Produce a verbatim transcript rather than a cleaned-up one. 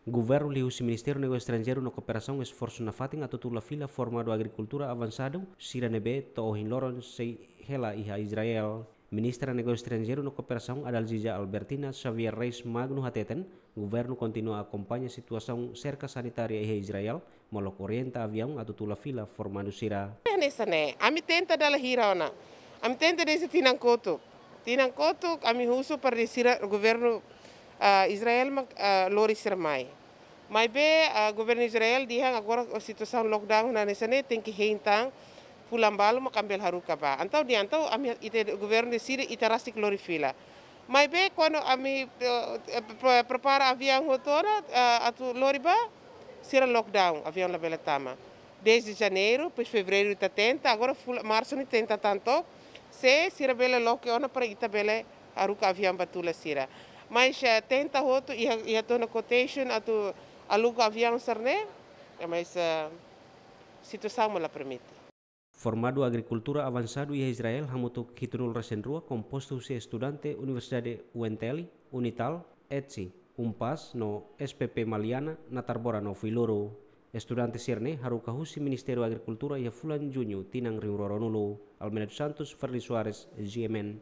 Governu liuhusi Ministériu Negósiu Estranjeiru no Kooperasaun esforsu nafatin atu tula fila formadu agrikultura avansadu sira ne'ebé to'o ohin loron sei hela iha Israel. Ministra Negósiu Estranjeiru no Kooperasaun Adalgisa Albertina Xavier Reis Magno hateten, governu kontinua akompaña situasaun serka sanitária iha Israel, molok orienta aviaun atu tula fila formadu sira. Hanesan ne'e, ami tenta dala hira ona. Ami tenta dezde tinan kotuk. Tinan kotuk, ami husu para sira governu, ah, Israel mak, ah, lori sira mai. Maibé, ah, governu Israel dehan agora situasaun lockdown hanesan ne'e tenke hein tan, fulan balu mak ami bele haruka bá. Entaun dehan entaun ami ita governu deside ita rasik lori fila. Maibé kuandu ami, eh, eh, pre-, prepara aviaun hotu ona, eh, atu lori bá, sira lockdown, aviaun labele tama. Dezde janeiru, depois fevereiru ita tenta, agora fula-, marsu ne'e tenta tan to'ok, se sira bele loke ona para ita bele haruka aviaun bá tula sira. Mas, eh, tenta hotu, iha, iha tiha ona quotation atu aluga aviaun sira-ne'e, eh, mas, eh, situasaun mak la permite. Formadu agrikultura avansadu iha Israel hamutuk hitunulu resin rua, kompostu husi estudante Universidade U N T L, Unital, etsi, UNPAZ no S P P Maliana, Natarbora no Fuiloro. Estudante sira-ne'e haruka husi Ministériu Agrikultura iha fulan Juñu tinan rihun rua ruanulu. Almeida dos Santos, Freddy Soares, G M N.